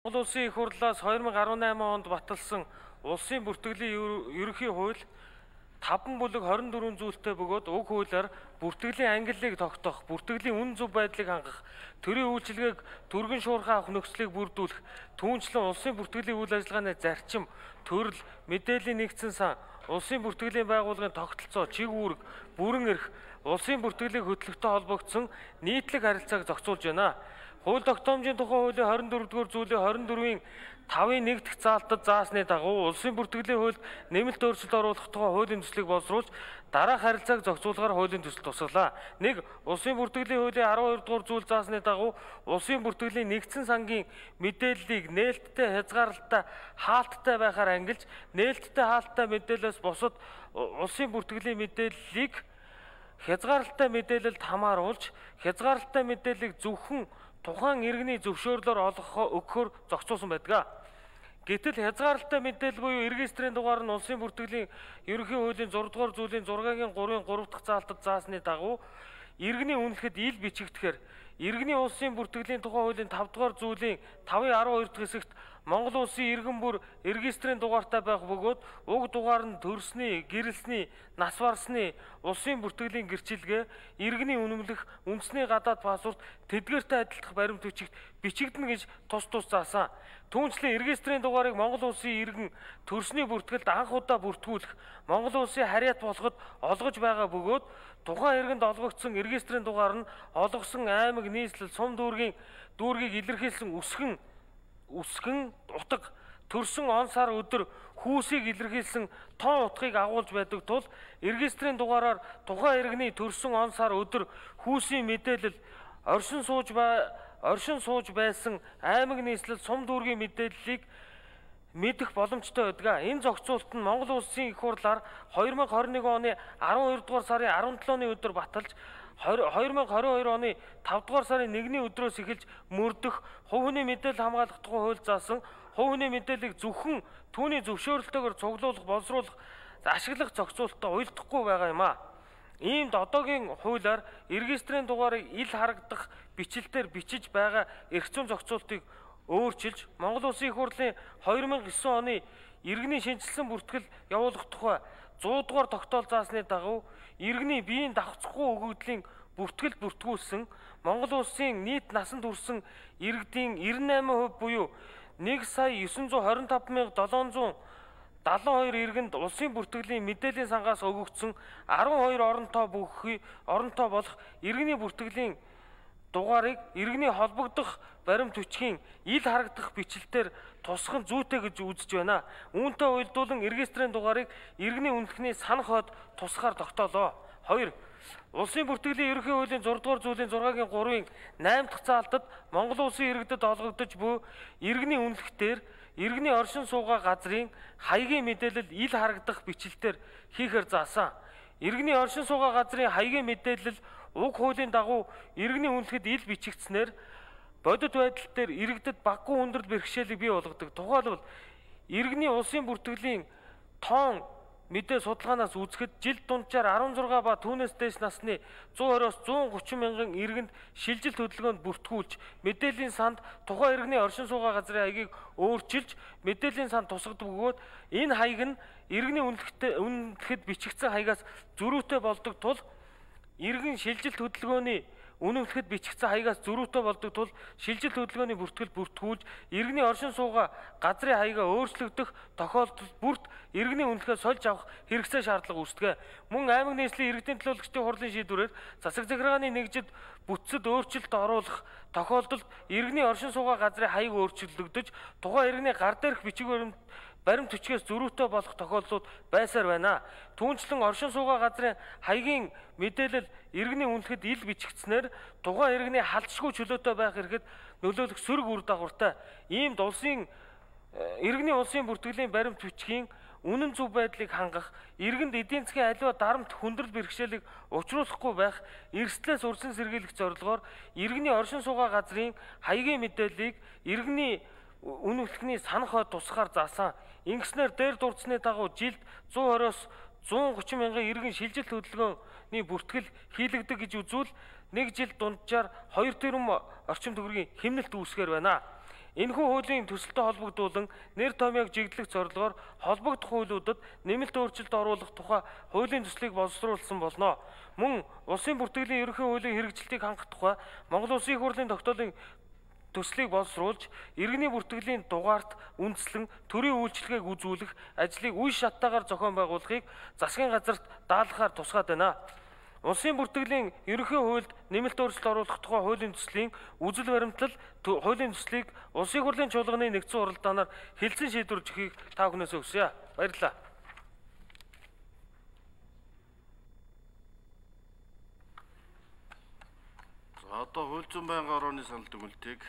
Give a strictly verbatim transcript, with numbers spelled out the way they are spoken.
Монгол Улсын их хурлаас хоёр мың арван найман онд баталсан улсын бүртгэлийн ерөнхий хууль таван бүлэг хорин дөрвөн зүйлтэй бөгөөд уг хуулиар бүртгэлийн ангиллыг тогтоох, бүртгэлийн үн зөв байдлыг хангах, төрийн үйлчилгээг түргэн шуурхай авах нөхцөлийг бүрдүүлэх, түүнчлэн улсын бүртгэлийн үйл ажиллагааны зарчим, төрөл, мэдээллийн нэгдсэн сан, улсын бүртгэлийн байгууллагын тогтолцоо, чиг үүрэг, бүрэн эрх, улсын бүртгэлийн хөтөлбөртэй холбогдсон нийтлэг харилцааг зохицуулж байна. Хууль тогтоомжийн тухай хуулийн хорин дөрөвдүгээр зүйлийн хорин дөрвийн тавын нэг дахь заалтад заасны дагуу улсын бүртгэлийн хуульд нэмэлт өөрчлөлт оруулах тухай хуулийн төслийг боловсруулж дараах харилцааг зохицуулахаар хуулийн төсөл тусгалаа. нэг. Улсын бүртгэлийн хуулийн арван хоёр дугаар зүйл заасны дагуу улсын бүртгэлийн нэгдсэн сангийн мэдээллийг нээлттэй, хязгаарлалттай, хаалттай байхаар ангилж, нээлттэй, хаалттай мэдээлэлээс бусад улсын бүртгэлийн мэдээллийг хязгаарлалтай мэдээлэлд хамааруулж, хязгаарлалтай мэдээллийг зөвхөн тухайн иргэний зөвшөөрлөөр олгох өгөхөөр зохицуулсан байдаг. Гэтэл хязгаарлалтай мэдээлэл буюу регистрийн дугаар нь улсын бүртгэлийн ерөнхий хуулийн зургаан дугаар зүйлийн зургийн гурвын гурав дахь заалтад заасны дагуу иргэний үнэлэхэд ил бичигдэхээр иргэний улсын бүртгэлийн тухай хуулийн тав дугаар зүйлийн тавын арван хоёр дахь хэсэгт Монгол улсын иргэн бүр регистрийн дугаартай байх бөгөөд уг дугаар нь төрсний, гэрэлсний, нас барсны, улсын бүртгэлийн гэрчилгээ, иргэний үнэмлэх, үндэсний гадаад паспорт, тэдгээртэй адилдах баримт бичигт бичигдэнэ гэж тус тус заасан. Түүнчлэн регистрийн дугаарыг Монгол улсын иргэн төрсний бүртгэлд анх удаа бүртгүүлэх, Монгол улсын харьяат болоход олгож байгаа бөгөөд тухайн иргэнд олгогдсон регистрийн дугаар нь олгосон аймаг, нийслэл, сум дүүргийн дүүргийг илэрхийлсэн үсгэн үсгэн утга, төрсөн он сар өдөр хүүсийг илэрхийлсэн тоон утгыг агуулж байдаг тул регистрийн дугаараар тухайн иргэний төрсөн он сар өдөр хүүсийн мэдээлэл, оршин сууж бай оршин сууж байсан аймаг, нийслэл, сум дүүргийн мэдээллийг мэдэх боломжтой байдаг. Энэ зохицуулалт нь Монгол Улсын их хурлаар хоёр мың хорин нэгэн оны арван хоёр дугаар сарын арван долооны өдөр баталж, хоёр мың хорин хоёр оны тав дугаар сарын нэгний өдрөөс эхэлж мөрдөх хувь хүний мэдээлэл хамгаалах тухай хууль заасан хувь хүний мэдээллийг зөвхөн түүний зөвшөөрөлтөөр цуглуулах, боловсруулах, ашиглах зохицуулалттай уялдахгүй байгаа юм а. Иймд одоогийн хуулиар регистрийн дугаарыг ил харагдах бичлэлээр бичиж байгаа эрх зүйн зохицуултыг өөрчилж, Монгол Улсын их хурлын хоёр мың девять оны иргэний шинжилсэн бүртгэл явуулах тухай сто дугаар тогтоол заасны дагуу иргэний биеийн давхцахгүй өгөгдлийн бүртгэл бүртгүүлсэн Монгол Улсын нийт насанд хүрсэн иргэдийн девяносто восемь процент буюу нэг сая девятьсот двадцать пять мянга седемьсот семьдесят хоёр иргэнд улсын бүртгэлийн мэдээллийн сангаас өгөгдсөн арван хоёр оронтой бүхий оронтой болох иргэний бүртгэлийн дугаарыг иргэний холбогдох баримт бичгийн ил харагдах бичлэлээр тусгах нь зүйтэй гэж үзэж байна. Үүнтэй уялдуулан регистрийн дугаарыг иргэний үнэлэхний санах хойд тусгаар тогтоолоо. хоёр. Улсын бүртгэлийн ерөнхий хуулийн зургаан дугаар зүйлийн зургийн гурвын найм дахь заалтад Монгол улсын иргэдэд олгогдож буй иргэний үнэлэхтэр иргэний оршин суугаа газрын хаягийн мэдээлэл ил харагдах бичлэлээр хийхээр заасан. Иргэний оршин суугаа газрын хаягийн мэдээлэл уг хуулийн дагуу иргэний үнэлэхэд ил бичигдснээр бодит байдал дээр иргэдэд баггүй хүндрэл бэрхшээлийг бий болгодог. Тухайлбал иргэний улсын бүртгэлийн тоон мэдээ судалгаанаас үзэхэд жил дунджаар арван зургаан ба түүнээс дээш насны зуун хориос зуун гучин мянган иргэнд шилжилт хөдөлгөөнд бүртгүүлж, мэдээллийн санд тухайн иргэний оршин суугаа газрын хаягийг өөрчилж, мэдээллийн санд тусгадаг бөгөөд энэ хаяг нь иргэний үнэлэхэд бичигдсэн хаягаас зөрүүтэй болдог тул иргэн шилжилт хөдөлгөөний үнэмлэхэд бичигдсэн хаягаас зөрүүтэй болдог тул шилжилт хөдөлгөөний бүртгэл бүртгүүлж, иргэний оршин суугаа газрын хаягаа өөрчлөгдөх тохиолдолд бүрт иргэний үнэлэхээ сольж авах хэрэгцээ шаардлага үүсдэг. Мөн аймаг, нийслэлийн иргэдийн төлөөлөгчдийн хурлын шийдвэрээр засаг захиргааны нэгжид бүтцэд өөрчлөлт оруулах тохиолдолд иргэний оршин суугаа газрын хаяг өөрчлөгдөж, тухайн иргэний гар дээрх бичиг баримт баримт хүчгээс зөрүүтэй болох тохиолдлууд байсаар байна. Түүнчлэн оршин суугаа газрын хаягийн мэдээлэл иргэний үнэлэхэд ил бичигдснээр тухайн иргэний халдшгүй чөлөөтэй байх хэрэгэд нөлөөлөх сөрөг үр дагавартай. Иймд улсын иргэний улсын бүртгэлийн баримт бичгийн үнэн зөв байдлыг хангах, иргэнд эдийн засгийн аливаа дарамт хүндрэл бэрхшээлийг учруулахгүй байх, эрсдлээс урьдчилан сэргийлэх зорилгоор иргэний оршин суугаа газрын хаягийн мэдээллийг иргэний үнэлэхний санах хойд тусгаар заасан. Ингэснээр дээр дурдсны дагуу жилд зуун хориос зуун гучин мянган иргэн шилжилт хөдөлгөөний бүртгэл хийлэгдэг гэж үзвэл нэг жил дунджаар хоёр тэрбум орчим төгрөгийн хэмнэлт үүсгэр байна. Энэхүү хуулийн төсөлтөд холбогдуулан нэр томьёог жиглэх зорилгоор холбогдох хуулиудад нэмэлт өөрчлөлт оруулах тухай хуулийн төслийг боловсруулсан болно. Мөн улсын бүртгэлийн ерөнхий хуулийн хэрэгжилтийг хангах тухай Монгол Улсын их хурлын тогтоолын төслийг боловсруулж, иргэний бүртгэлийн дугаарт үндэслэн төрийн үйлчилгээг үзүүлэх ажлыг үе шаттайгаар зохион байгуулахыг засгийн газарт даалгахаар тусгаад байна. Улсын бүртгэлийн ерөнхий хуульд нэмэлт өөрчлөлт оруулах тухай хуулийн төслийн үзэл баримтлал хуулийн төслийг Улсын их хурлын чуулганы нэгдсэн уралдаанаар хэлцэн шийдвэрлэж өгөхийг та бүхнээс хүсье. Баярлалаа. За одоо хууль зүйн байнгын орооны санал дүгнэлтийг